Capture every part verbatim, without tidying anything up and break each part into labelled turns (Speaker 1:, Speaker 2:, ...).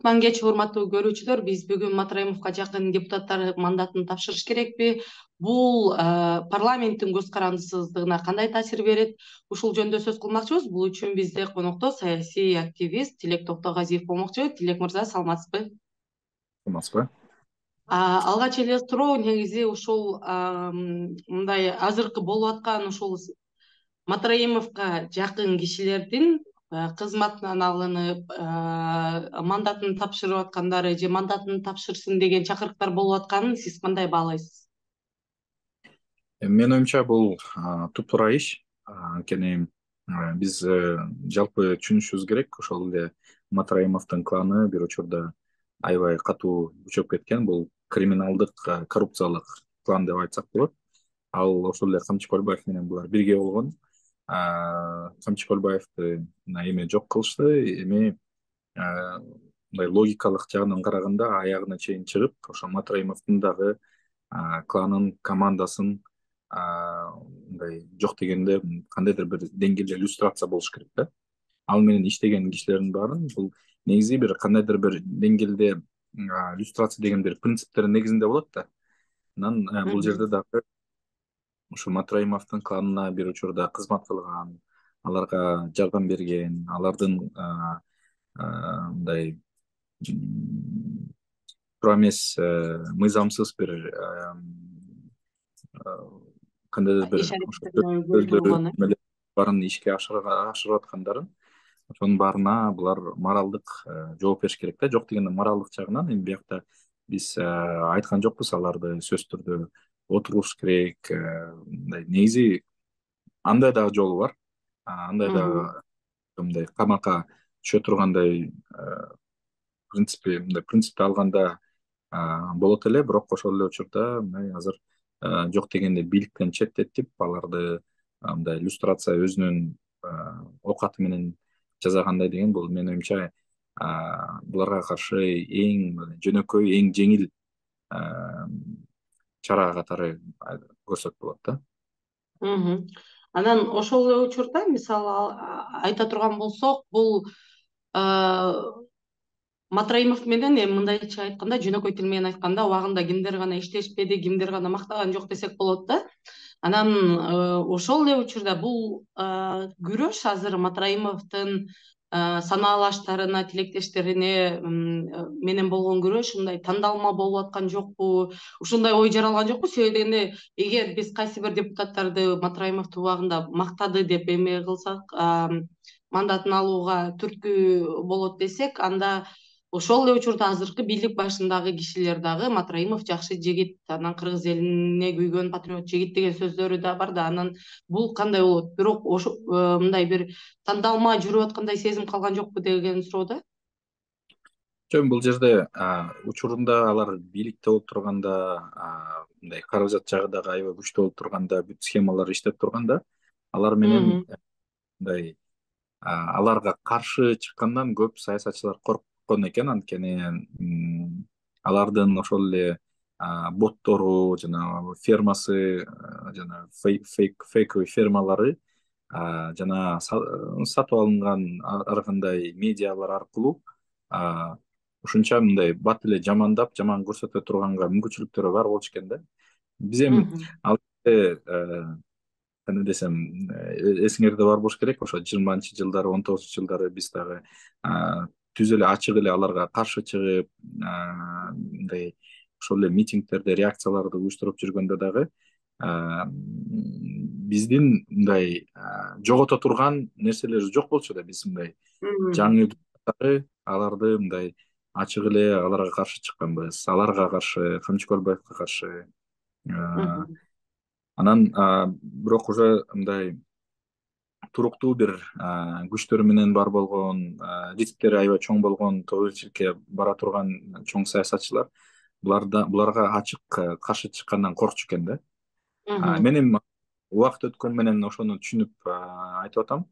Speaker 1: Кутман кеч, урматтуу көрүүчүлөр. Биз бүгүн Матраимовго жакын депутаттар мандатын тапшырыш керекпи? Бул парламенттин көз карандысыздыгына кандай таасир берет? Ушул жөнүндө сөз кылмакчыбыз. Бул үчүн бизде конокто саясий активист Тилек Токтогазиев болмокчу. Тилек мырза, саламатсызбы?
Speaker 2: Саламатсызбы?
Speaker 1: Алгач эле суроо негизи ушул мындай азыркы болуп аткан ушул Матраимовго жакын кишилердин кызматынан алынып, мандатын тапшырып аткандары же мандатын тапшырсын деген чакырыктар болуп атканын сиз кандай баалайсыз?
Speaker 2: Менин оюмча бул туптуура иш. Анткени биз жалпы түшүнүшүбүз керек, ошол эле Матраимовдун кланы бир учурда аябай катуу күчөп кеткен. Бул криминалдык, коррупциялык клан деп айтсак болот. Ал ошол эле Камчы Көлбаев менен булар бирге болгон. Камчы Көлбаевди эми жок кылышты. Эми мындай логикалык жагынан караганда аягына чейин чыгып, ошо Матраимовдун дагы кланын, командасын мындай жок дегенде кандайдыр бир деңгээлде иллюстрация болуш керек да. Ал менен иштеген кишилердин баарын бул негизи бир кандайдыр бир деңгээлде иллюстрация деген бир принциптердин негизинде болот да. Анан бул жерде дагы ушу Матраимовдун кланына бир учурда кызмат кылган, аларга жардам берген, алардын мындай туура эмес, мыйзамсыз бир кандайдыр бир баарын ишке ашырып аткандарын, ошонун баарына булар моралдык жооп бериш керек да. Жок дегенде моралдык жагынан эми биякта биз айткан жокпуз аларды сөзсүз түрдө отуруш керек. Мындай негизи андай дагы жолу бар. Андай дагы мындай камакка түшө тургандай принципи, мындай принципти алганда болот эле, бирок ошол эле учурда мындай азыр жок дегенде бийликтен четтетип, аларды мындай иллюстрация өзүнүн оокаты менен жасагандай деген бул менин оюмча буларга каршы эң жөнөкөй, эң жеңил чара катары көрсөк болот да.
Speaker 1: Анан ошол эле учурда мисалы айта турган болсок, бул Матраимов менен эми мындайча айтканда, жөнөкөй тил менен айтканда, убагында кимдер гана иштешпеди, кимдер гана мактаган жок десек болот да. Анан ошол эле учурда бул күрөш азыр Матраимовдун санаалаштарына, тилектештерине менен болгон күрөш мындай тандалма болуп аткан жокпу? Ушундай ой жаралган жокпу? Себеби дегенде, эгер биз кайсы бир депутаттарды Матраимовду убагында мактады деп эме кылсак, мандатын алууга түрткү болот десек, анда ошол эле учурда азыркы бийлик башындагы кишилер дагы Матраимов жакшы жигит, анан кыргыз элине күйгөн патриот жигит деген сөздөрү да бар да. Анан бул кандай болот? Бирок ошо мындай бир тандалма жүрүп аткандай сезим калган жокпу деген суроо да.
Speaker 2: Жок, бул жерде учурунда алар бийликте болуп турганда, мындай каражат жагы дагы аябай күчтүү болуп турганда, бүт схемалар иштеп турганда, алар менен мындай аларга каршы чыккандан көп саясатчылар корккон экен. Анткени алардын ошол эле боттору, жана фермасы, жана фейковый фермалары, жана сатып алынган ар кандай медиалар аркылуу ушунча мындай бат эле жамандап, жаман көрсөтө турганга мүмкүнчүлүктөрү бар болчу экен да. Биз эми ал кандай десем, эсиңерде бар болуш керек, ошо жыйырманчы жылдары, он тогузунчу жылдары биз дагы түз эле ачык эле аларга каршы чыгып, мындай ошол эле митингдерде реакцияларды уюштуруп жүргөндө дагы биздин мындай жогото турган нерселер жок болчу да. Биз мындай жаңы аларды мындай ачык эле аларга каршы чыкканбыз, аларга каршы, Камчы Көлбаевге каршы. Анан бирок уже мындай туруктуу бир күчтөр менен бар болгон, рисктери аябай чоң болгон, тобокелчиликке бара турган чоң саясатчылар буларда буларга ачык каршы чыккандан коркчу экен да. Мен эми убакыт өткөн менен ошону түшүнүп айтып атам.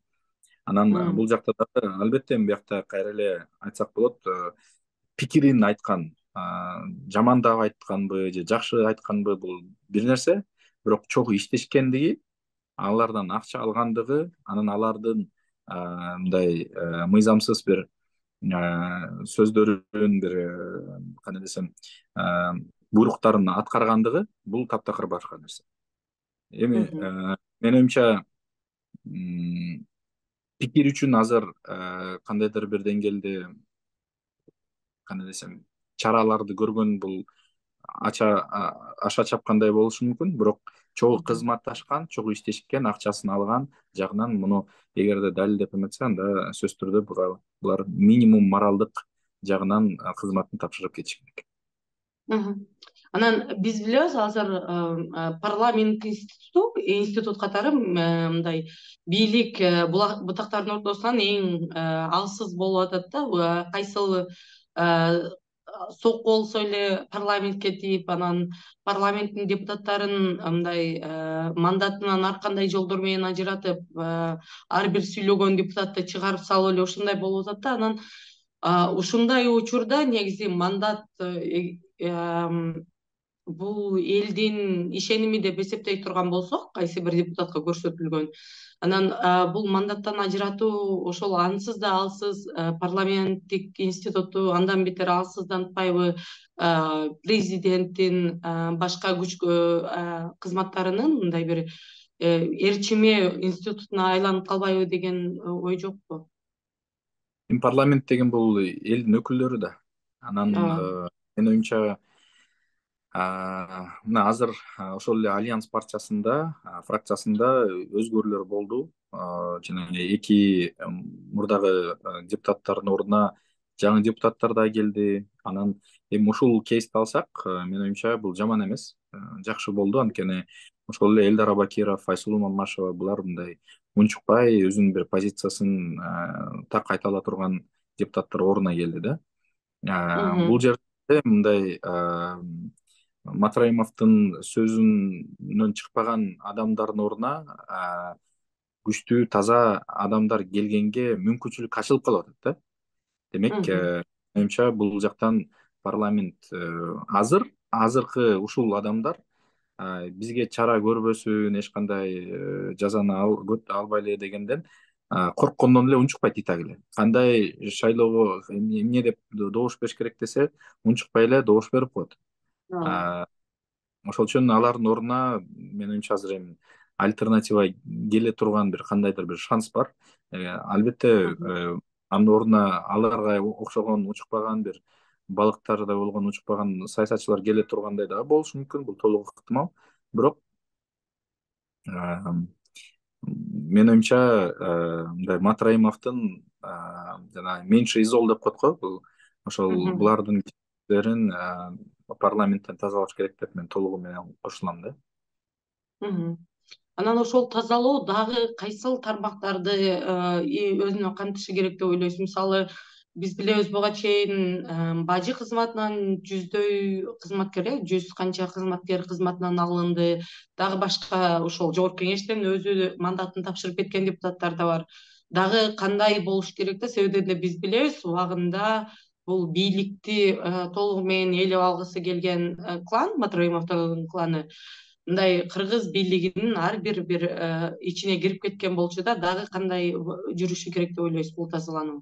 Speaker 2: Анан бул жакта дагы албетте биякта кайра эле айтсак болот, пикирин айткан, жамандап айтканбы же жакшы айтканбы бул бир нерсе, бирок чогуу иштешкендиги, алардан акча алгандыгы, анан алардын мындай мыйзамсыз бир сөздөрүн бир кандай десем буйруктарын аткаргандыгы бул таптакыр башка нерсе. Эми менин оюмча пикир үчүн азыр кандайдыр бир деңгээлде кандай десем чараларды көргөн бул ача аша чапкандай болушу мүмкүн, бирок чогуу кызматташкан, чогуу иштешкен, акчасын алган жагынан муну эгерде далилдеп эметсе, анда сөзсүз түрдө булар минимум моралдык жагынан кызматын тапшырып кетиш керек.
Speaker 1: Анан биз билебиз азыр парламент институту институт катары мындай бийлик бутактардын ортосунан эң алсыз болуп атат да. Кайсыл сок болсо эле парламентке тийип, анан парламенттин депутаттарын мындай мандатынан ар кандай жолдор менен ажыратып, ар бир сүйлөгөн депутатты чыгарып салып эле ушундай болуп атат да. Анан ушундай учурда негизи мандат бул элдин ишеними деп эсептей турган болсок, кайсы бир депутатка көрсөтүлгөн, анан бул мандаттан ажыратуу ошол ансыз да алсыз парламенттик институту андан бетер алсыздантпайбы президенттин башка күч кызматтарынын мындай бир ээрчиме институтуна айланып калбайбы деген ой жокпу?
Speaker 2: Эми парламент деген бул элдин өкүлдөрү да. Анан менин оюмча мына азыр ошол эле Альянс партиясында, фракциясында өзгөрүүлөр болду. Жанагы эки мурдагы депутаттардын ордуна жаңы депутаттар да келди. Анан эми ушул кейсти алсак, менин оюмча бул жаман эмес, жакшы болду. Анткени ошол эле Элдар Абакиров, Айсулуу Мамашева булар мындай унчукпай өзүнүн бир позициясын так айта ала турган депутаттар ордуна келди да. Бул жерде мындай Матраимовдун сөзүнөн чыкпаган адамдардын ордуна күчтүү, таза адамдар келгенге мүмкүнчүлүк ачылып калып атат да. Демек, менимче бул жактан парламент азыр азыркы ушул адамдар бизге чара көрбөсүн, эч кандай жазаны албай эле дегенден корккондон эле унчукпайт итак эле. Кандай шайлоого эмне деп добуш бериш керек десе, унчукпай эле добуш берип коет. Ошол үчүн алардын ордуна менин оюмча азыр эми альтернатива келе турган бир кандайдыр бир шанс бар. Албетте, анын ордуна аларга окшогон учукпаган бир балыктарда болгон учукпаган саясатчылар келе тургандай дагы болушу мүмкүн. Бул толук ыктымал. Бирок менин оюмча мындай Матраимовдун жана меньше из зол деп коет го, бул ошол булардын кишилерин парламенттен тазалаш керек деп мен толугу менен кошулам да.
Speaker 1: Анан ошол тазалоо дагы кайсыл тармактарды өзүнө камтышы керек деп ойлойсуз? Мисалы, биз билебиз буга чейин бажы кызматынан жүздөй кызматкер, жүз канча кызматкер кызматынан алынды. Дагы башка ошол жогорку кеңештен өзү мандатын тапшырып кеткен депутаттар да бар. Дагы кандай болуш керек да? Себеби биз билебиз, убагында бул бийликти толугу менен ээлеп алгысы келген клан, Матраимовдун кланы, мындай кыргыз бийлигинин ар бир бир ичине кирип кеткен болчу да. Дагы кандай жүрүшү керек деп ойлойсуз бул тазалануу?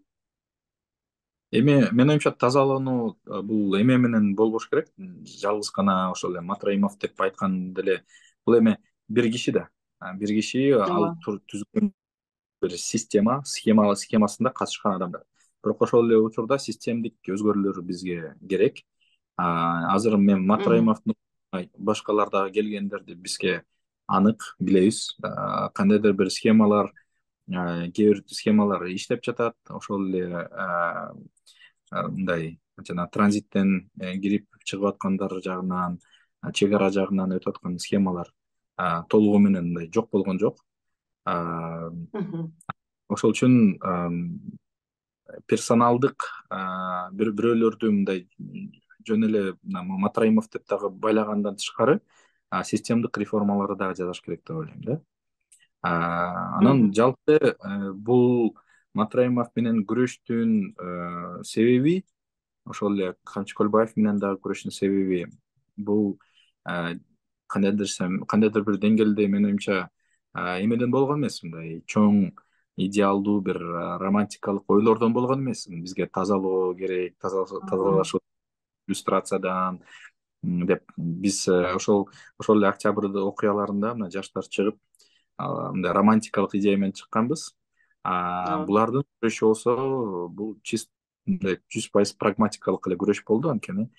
Speaker 2: Эми менин оюмча тазалануу бул эме менен болбош керек. Жалгыз гана ошол эле Матраимов деп айтканда эле бул эми бир киши да. Бир киши ал түзгөн бир система, схема схемасында катышкан адамдар. Бирок ошол эле учурда системдик өзгөрүүлөр бизге керек. Азыр мен Матраимовдун башкалар дагы келгендерди бизге анык билебиз. Кандайдыр бир схемалар, кээ бир схемалар иштеп жатат. Ошол эле мындай жана транзиттен кирип чыгып аткандар жагынан, чек ара жагынан өтүп аткан схемалар толугу менен мындай жок болгон жок. Ошол үчүн персоналдык бир бирөөлөрдү мындай жөн эле Матраимов деп дагы байлагандан тышкары системдик реформаларды дагы жасаш керек деп ойлойм да. Анан жалпы бул Матраимов менен күрөштүн себеби, ошол эле Камчыкөлбаев менен дагы күрөштүн себеби бул кандайдыр кандайдыр бир деңгээлде менин оюмча эмеден болгон эмес, мындай чоң идеалдуу бир романтикалык ойлордон болгон эмес. Бизге тазалоо керек, тазалаш иллюстрациядан деп биз ошол ошол эле октябрь окуяларында мына жаштар чыгып мындай романтикалык идея менен чыкканбыз. Булардын күрөшү болсо бул чист мындай жүз пайыз прагматикалык эле күрөш болду. Анткени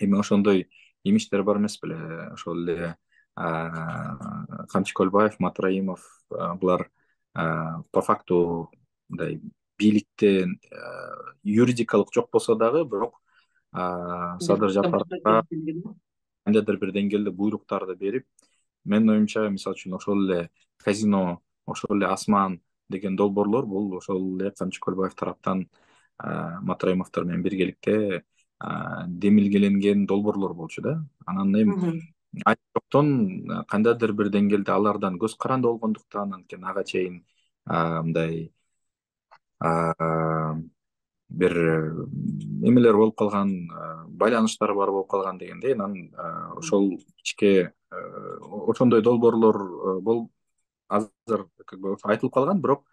Speaker 2: эми ошондой имиштер бар эмес беле, ошол эле Камчы Көлбаев, Матраимов булар по факту мындай бийликте юридикалык жок болсо дагы, бирок Садыр Жапаровго кандайдыр бир деңгээлде буйруктарды берип, менин оюмча, мисалы үчүн ошол эле казино, ошол эле Асман деген долбоорлор бул ошол эле Камчы Көлбаев тараптан Матраимовдор менен биргеликте демилгеленген долбоорлор болчу да. Анан эми айттоктон кандайдыр бир деңгээлде алардан көз каранды болгондуктан, анткени ага чейин мындай бир эмелер болуп калган, байланыштар бар болуп калган дегендей, анан ошол ичке ошондой долбоорлор бол азыр как бы айтылып калган, бирок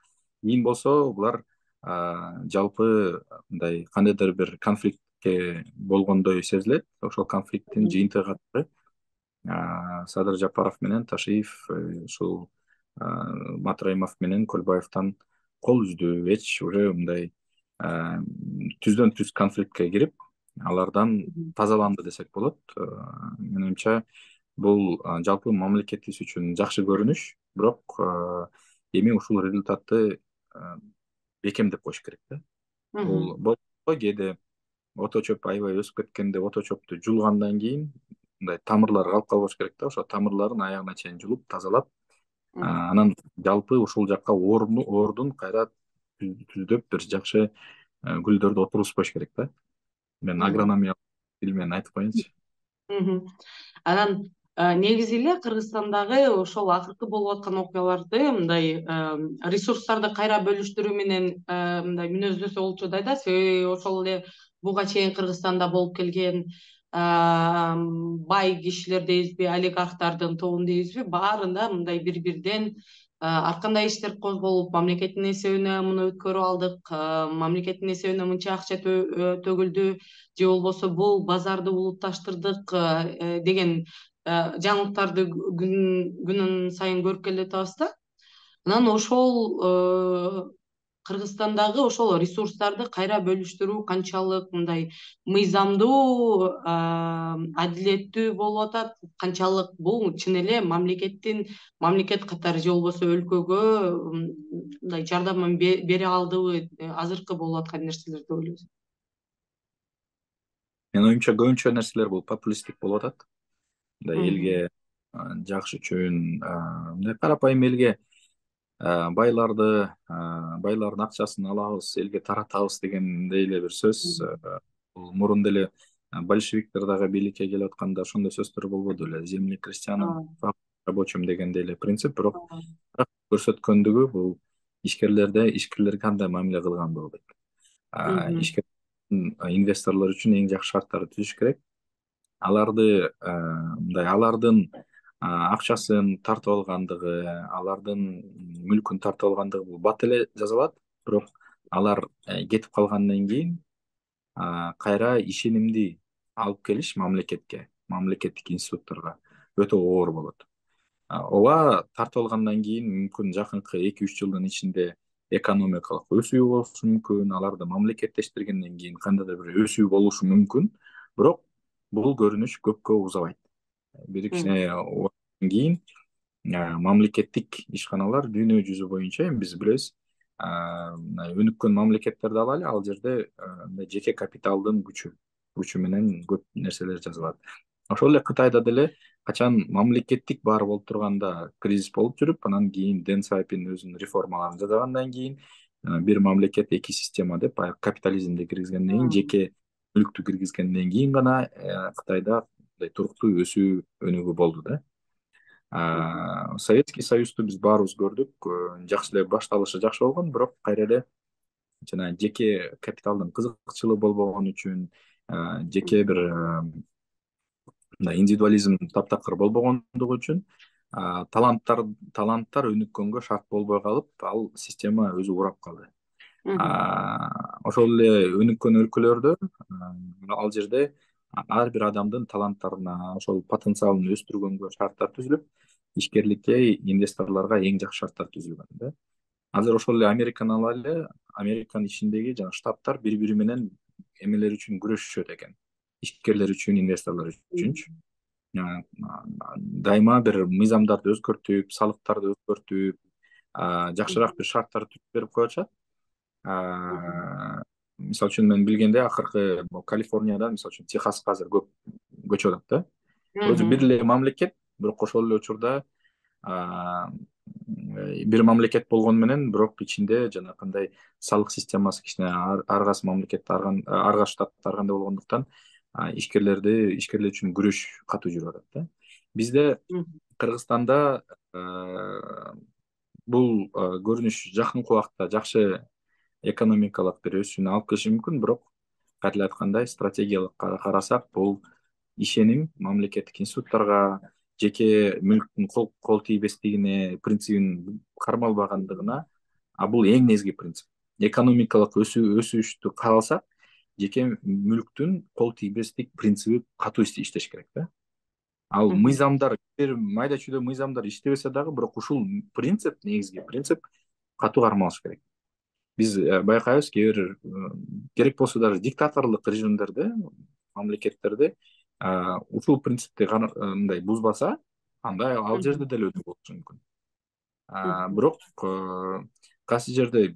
Speaker 2: кийин болсо булар жалпы мындай кандайдыр бир конфликтке болгондой сезилет. Ошол конфликттин жыйынтыгы катары Садыр Жапаров менен Ташиев ушул Матраимов менен Көлбаевден кол үздү. Эч уже мындай түздөн түз конфликтке кирип, алардан тазаланды десек болот. Менин оюмча, бул жалпы мамлекетибиз үчүн жакшы көрүнүш, бирок эми ушул результатты бекемдеп коюш керек да. Бул болсо кээде ото чөп аябай өсүп кеткенде ото чөптү жулгандан кийин мындай тамырлар калып калбаш керек да. Ошо тамырларын аягына чейин жулуп, тазалап, анан жалпы ушул жакка ордун кайра түздөп бир жакшы гүлдөрдү отургузбаш керек да. Мен агрономия тил менен айтып коеюнчу.
Speaker 1: Анан негизи эле Кыргызстандагы ошол акыркы болуп аткан окуяларды мындай ресурстарды кайра бөлүштүрүү менен мындай мүнөздөсө болчу да. Себеби ошол эле буга чейин Кыргызстанда болуп келген бай кишилер дейбизби, олигархтардын тобун дейбизби, баарында мындай бири-бирден ар кандай иштер козголуп, мамлекеттин эсебине муну өткөрүп алдык, мамлекеттин эсебине мынча акча төгүлдү, же болбосо бул базарды улутташтырдык деген жаңылыктарды күнүн сайын көрүп келе жатабыз да. Анан ошол Кыргызстандагы ошол ресурстарды кайра бөлүштүрүү канчалык мындай мыйзамдуу, адилеттүү болуп атат, канчалык бул чын эле мамлекеттин мамлекет катары же болбосо өлкөгө мындай жардамын бере алдыбы, азыркы болуп аткан нерселер деп ойлойсуз?
Speaker 2: Менин оюмча көбүнчө нерселер бул популисттик болуп атат. Мындай элге жакшы үчүн, мындай карапайым элге байларды, байлардын акчасын алабыз, элге таратабыз дегендей эле бир сөз. Бул мурун деле большевиктер дагы бийликке келип атканда ошондой сөздөр болбоду беле, земли крестьянам, рабочим дегендей эле принцип. Бирок көрсөткөндүгү бул ишкерлерде ишкерлерге кандай мамиле кылгандыгы дейт. Ишкер инвесторлор үчүн эң жакшы шарттарды түзүш керек. Аларды мындай алардын акчасын тартып алгандыгы, алардын мүлкүн тартып алгандыгы бул бат эле жазылат. Бирок алар кетип калгандан кийин кайра ишенимди алып келиш мамлекетке, мамлекеттик институтторго өтө оор болот. Ооба, тартып алгандан кийин мүмкүн жакынкы эки үч жылдын ичинде экономикалык өсүү болушу мүмкүн, аларды мамлекеттештиргенден кийин кандайдыр бир өсүү болушу мүмкүн, бирок бул көрүнүш көпкө узабайт. Бир кичине кийин мамлекеттик ишканалар дүйнө жүзү боюнча, эми биз билебиз, өнүккөн мамлекеттерди алалы, ал жерде жеке капиталдын күчү күчү менен көп нерселер жазылат. Ошол эле Кытайда деле качан мамлекеттик бар болуп турганда кризис болуп жүрүп, анан кийин Дэн Сайпин өзүнүн реформаларын жасагандан кийин бир мамлекет эки система деп баягы капитализмди киргизгенден кийин, жеке мүлктү киргизгенден кийин гана Кытайда туруктуу өсүү өнүгүү болду да. Советский Союзду биз баарыбыз көрдүк, жакшы эле башталышы жакшы болгон, бирок кайра эле жана жеке капиталдын кызыкчылыгы болбогон үчүн, жеке бир мындай индивидуализм таптакыр болбогондугу үчүн таланттар таланттар өнүккөнгө шарт болбой калып, ал система өзү урап калды. Ошол эле өнүккөн өлкөлөрдө ал жерде ар бир адамдын таланттарына, ошол потенциалын өстүргөнгө шарттар түзүлүп, ишкерликке, инвесторлорго эң жакшы шарттар түзүлгөн да. Азыр ошол эле Американы алайлы, Американын ичиндеги жана штаттар бири бири менен эмелер үчүн күрөшүшөт экен. Ишкерлер үчүн, инвесторлор үчүнчү. Дайыма бир мыйзамдарды өзгөртүп, салыктарды өзгөртүп, жакшыраак бир шарттар түзүп берип коюшат. Мисалы үчүн мен билгенде акыркы Калифорниядан, мисалы үчүн Техаска азыр көп көчүп атат да. Вроде бир эле мамлекет, бирок ошол эле учурда бир мамлекет болгону менен, бирок ичинде жанакындай салык системасы кичине ар кайсы мамлекет, ар кайсы штатта ар кандай болгондуктан ишкерлерди ишкерлер үчүн күрөш катуу жүрүп атат да. Бизде Кыргызстанда бул көрүнүш жакынкы убакта жакшы экономикалык бир өсүүнү алып келиши мүмкүн, бирок кайра эле айткандай, стратегиялык карасак, бул ишеним мамлекеттик институттарга, жеке мүлктүн кол тийбестигине принцибин кармалбагандыгына, а бул эң негизги принцип. Экономикалык өсүштү кааласак, жеке мүлктүн кол тийбестик принциби катуу иштеш керек да. Ал мыйзамдар, бир майда чүйдө мыйзамдар иштебесе дагы, бирок ушул принцип, негизги принцип катуу кармалыш керек. Биз байкайбыз, кээ бир керек болсо даже диктаторлук режимдерде, мамлекеттерде ушул принципти мындай бузбаса, анда ал жерде деле өнүгүү болушу мүмкүн. Бирок кайсы жерде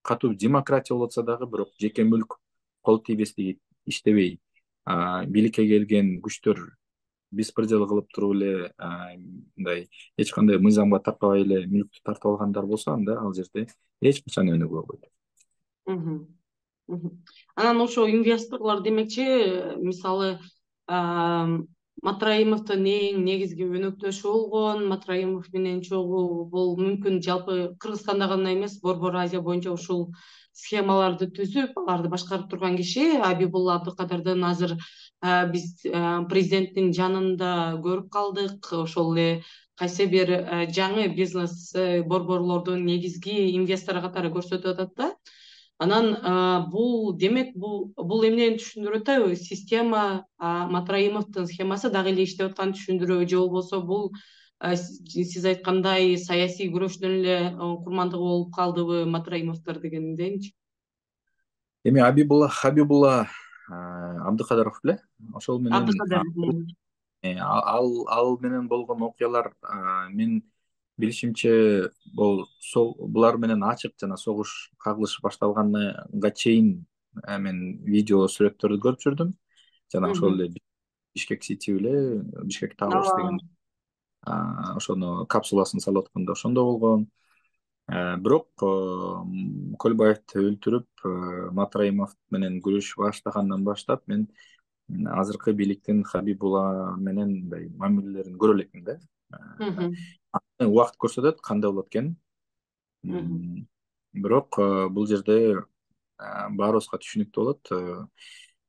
Speaker 2: катуу демократия болуп атса дагы, бирок жеке мүлк кол тийбестиги иштебей, бийликке келген күчтөр беспредел кылып туруп эле, мындай эч кандай мыйзамга такабай эле мүлктү тартып алгандар болсо, анда ал жерде эч качан өнүгүү болбойт.
Speaker 1: Анан ошо инвесторлор демекчи, мисалы, Матраимовдун эң негизги өнөктөшү болгон, Матраимов менен чогуу бул мүмкүн жалпы Кыргызстанда гана эмес, Борбор Азия боюнча ушул схемаларды түзүп, аларды башкарып турган киши Абибулла Абдыкадырдын азыр биз президенттин жанында көрүп калдык. Ошол эле кайсы бир жаңы бизнес борборлордун негизги инвестору катары көрсөтүп атат да. Анан бул демек бул бул эмнени түшүндүрүп атпайбы? Система, Матраимовдун схемасы дагы эле иштеп атканын түшүндүрөбү, же болбосо бул сиз айткандай саясий күрөштүн эле курмандыгы болуп калдыбы Матраимовдор дегендейинчи?
Speaker 2: Эми Абибулла Хабибулла Абдыкадыров беле? Ошол менен ал ал менен болгон окуялар, мен билишимче, бул булар менен ачык жана согуш кагылыш башталганга чейин мен видео сүрөттөрдү көрүп жүрдүм. Жана ошол эле Бишкек Сити беле, Бишкек Towers деген ошону капсуласын салып атканда ошондо болгон. Бирок Көлбаевди өлтүрүп Матраимов менен күрөшүп баштагандан баштап мен азыркы бийликтин Хабибулла менен мындай мамилелерин көрө элекмин да. Убакыт көрсөтөт кандай болот экенин. Бирок бул жерде баарыбызга түшүнүктүү болот.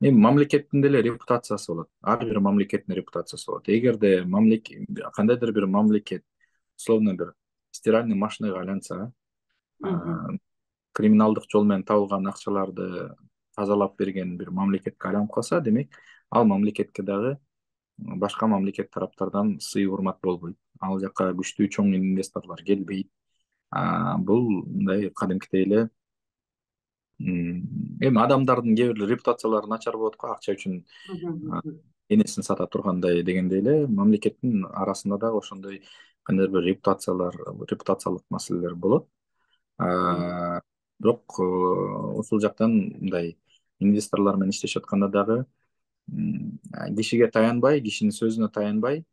Speaker 2: Эми мамлекеттин деле репутациясы болот. Ар бир мамлекеттин репутациясы болот. Эгерде мамлекет, кандайдыр бир мамлекет, условно бир стиральный машинага айланса, криминалдык жол менен табылган акчаларды тазалап берген бир мамлекетке айланып калса, демек ал мамлекетке дагы башка мамлекет тараптардан сый урмат болбойт. Ал жака күчтүү чоң инвесторлор келбейт. Бул мындай кадимкидей эле эми адамдардын кээ бир репутациялары начар болот го, акча үчүн энесин сата тургандай дегендей эле мамлекеттин арасында дагы ошондой кандайдыр бир репутациялар, репутациялык маселелер болот. Бирок ушул жактан мындай инвесторлор менен иштешип атканда дагы кишиге таянбай, кишинин сөзүнө таянбай,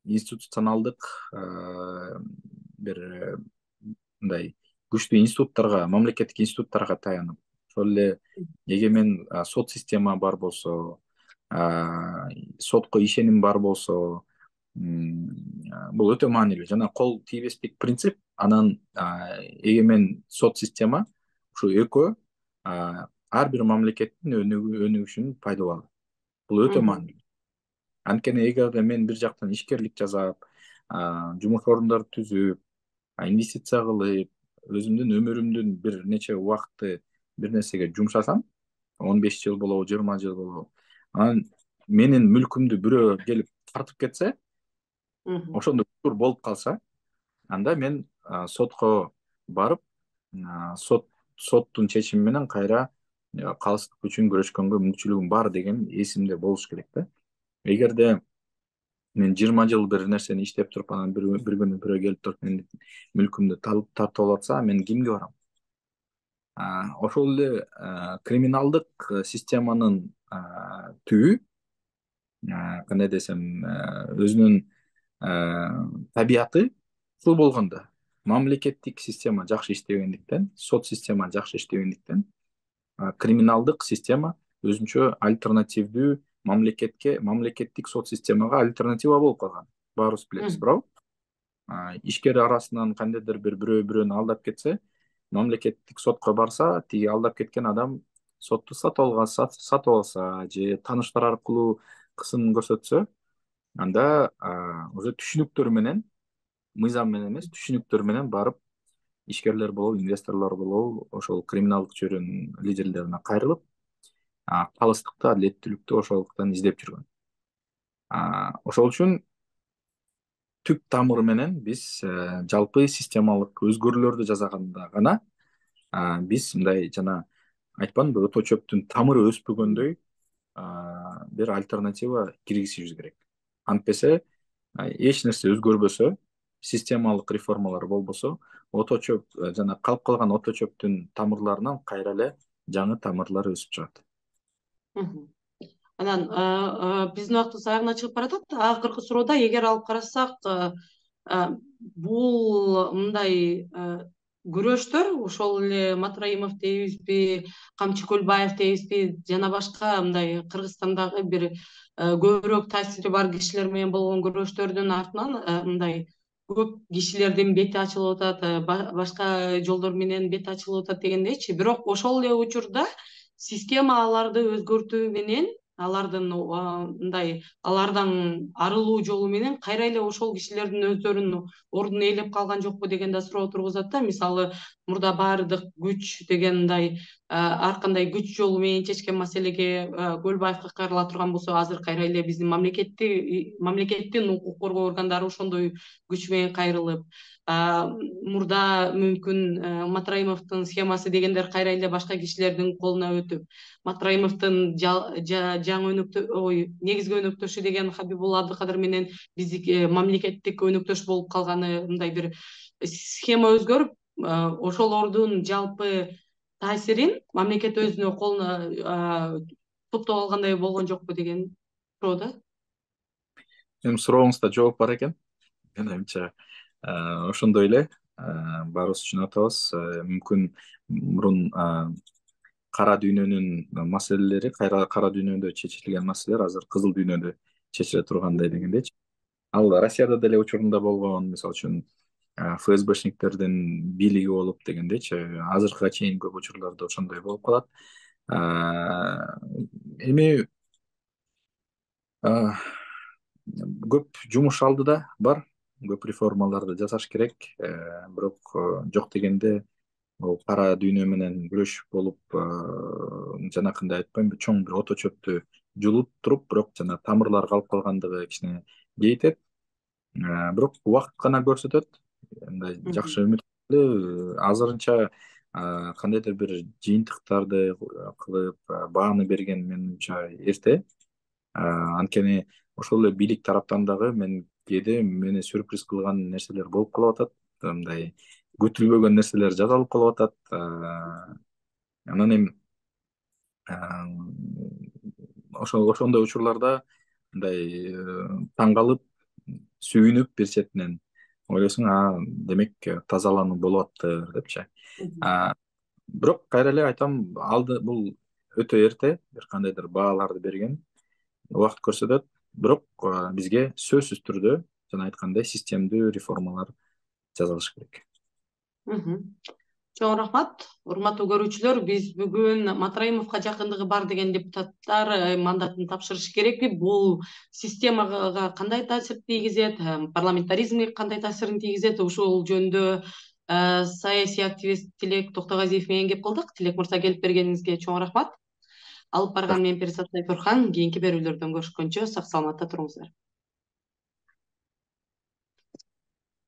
Speaker 2: институционалдык бир мындай күчтүү институттарга, мамлекеттик институттарга таянып, ошол эле эгемен сот система бар болсо, сотко ишеним бар болсо, бул өтө маанилүү. Жана кол тийбестик принцип, анан эгемен сот система, ушу экөө ар бир мамлекеттин өнүгүшүнүн пайдалуу. Бул өтө маанилүү. Анткени эгерде мен бир жактан ишкерлик жасап, жумуш орундарды түзүп, инвестиция кылып, өзүмдүн өмүрүмдүн бир нече убакытты бир нерсеге жумшасам, он беш жыл болобу, жыйырма жыл болобу, анан менин мүлкүмдү бирөө келип тартып кетсе, ошондой учур болуп калса, анда мен сотко барып, сот соттун чечими менен кайра калыстык үчүн күрөшкөнгө мүмкүнчүлүгүм бар деген эсимде болуш керек да. Эгерде мен жыйырма жыл бир нерсени иштеп туруп, анан бир бир күнү бирөө келип туруп менин мүлкүмдү тартып алып атса, мен кимге барам? Ошол эле криминалдык системанын түбү, кандай десем, өзүнүн табияты ушул болгондо, мамлекеттик система жакшы иштебегендиктен, сот система жакшы иштебегендиктен, криминалдык система өзүнчө альтернативдүү мамлекетке, мамлекеттик сот системага альтернатива болуп калган. Баарыбыз билебиз, туурабы? Ишкер арасынан кандайдыр бир бирөө бирөөнү алдап кетсе, мамлекеттик сотко барса, тиги алдап кеткен адам сотту сатып алган, сатып алса же тааныштар аркылуу кысым көрсөтсө, анда уже түшүнүктөр менен, мыйзам менен эмес, түшүнүктөр менен барып ишкерлер болобу, инвесторлор болобу, ошол криминалдык чөйрөнүн лидерлерине кайрылып, калыстыкты, адилеттүүлүктү ошолуктан издеп жүргөн. Ошол үчүн түп тамыры менен биз жалпы системалык өзгөрүүлөрдү жасаганда гана биз мындай жана айтпадымбы, өтө чөптүн тамыры өспөгөндөй бир альтернатива киргизишибиз керек. Антпесе эч нерсе өзгөрбөсө, системалык реформалар болбосо, ото чөп жана калып калган ото чөптүн тамырларынан кайра эле жаңы тамырлар өсүп чыгат.
Speaker 1: Анан биздин убактыбыз аягына чыгып баратат. Акыркы суроодо эгер алып карасак, бул мындай күрөштөр, ошол эле Матраимов дейбизби, Камчы Көлбаев дейбизби, жана башка мындай Кыргызстандагы бир көбүрөөк таасири бар кишилер менен болгон күрөштөрдүн артынан мындай көп кишилердин бети ачылып атат, башка жолдор менен бети ачылып атат дегендейчи. Бирок ошол эле учурда система аларды өзгөртүү менен, алардын мындай алардан арылуу жолу менен кайра эле ошол кишилердин өздөрүнүн ордун ээлеп калган жокпу деген да суроо тургузат да. Мисалы, мурда баардык күч деген мындай ар кандай күч жолу менен чечкен маселеге Көлбаевка кайрыла турган болсо, азыр кайра эле биздин мамлекетти мамлекеттин укук коргоо органдары ошондой күч менен кайрылып, мурда мүмкүн Матраимовдун схемасы дегендер кайра эле башка кишилердин колуна өтүп, Матраимовдун жаңы өнөктө ой негизги өнөктөшү деген Хабибулла Абдыкадыр менен биздики мамлекеттик өнөктөш болуп калганы, мындай бир схема өзгөрүп, ошолордун жалпы таасирин мамлекет өзүнө колуна топтоп алгандай болгон жокпу деген суроо да.
Speaker 2: Эми сурооңузда жооп бар экен. Менимче ошондой эле, баарыбыз түшүнүп атабыз. Мүмкүн мурун кара дүйнөнүн маселелери, кара дүйнөдө чечилген маселелер азыр кызыл дүйнөдө чечиле тургандай дегендейчи. Ал Россияда деле учурунда болгон, мисалы үчүн ФСБшниктердин бийлиги болуп дегендейчи, азыркыга чейин көп учурларда ошондой болуп калат. Эми көп жумуш алдыда бар, көп реформаларды жасаш керек, бирок жок дегенде бул кара дүйнө менен күрөш болуп, жанакындай айтпаймынбы, чоң бир ото чөптү жулуп туруп, бирок жана тамырлар калып калгандыгы кичине кейтет. Бирок убакыт гана көрсөтөт. Мындай жакшы үмүт азырынча кандайдыр бир жыйынтыктарды кылып бааны берген менимче эрте. Анткени ошол эле бийлик тараптан дагы мен кээде мени сюрприз кылган нерселер болуп калып атат. Мындай күтүлбөгөн нерселер жасалып калып атат. Анан эми ошол ошондой учурларда мындай таң калып, сүйүнүп бир четинен ойлойсуң, а демек тазалануу болуп атыптыр депчи. Бирок кайра эле айтам, алды бул өтө эрте бир кандайдыр бааларды берген. Убакыт көрсөтөт. Бирок бизге сөзсүз түрдө жана айткандай системдүү реформалар жасалыш керек.
Speaker 1: Чоң рахмат. Урматтуу көрүүчүлөр, биз бүгүн Матраимовго жакындыгы бар деген депутаттар э, мандатын тапшырышы керекпи? Бул системага кандай таасир тийгизет, э, парламентаризмге кандай таасирин тийгизет? Ушул жөнүндө э, саясий активист Тилек Токтогазиев менен кеп кылдык. Тилек мырза, келип бергениңизге чоң рахмат. Алып барган мен Перизат Сайфурхан. Кийинки берүүлөрдөн көрүшкөнчө сак саламатта туруңуздар.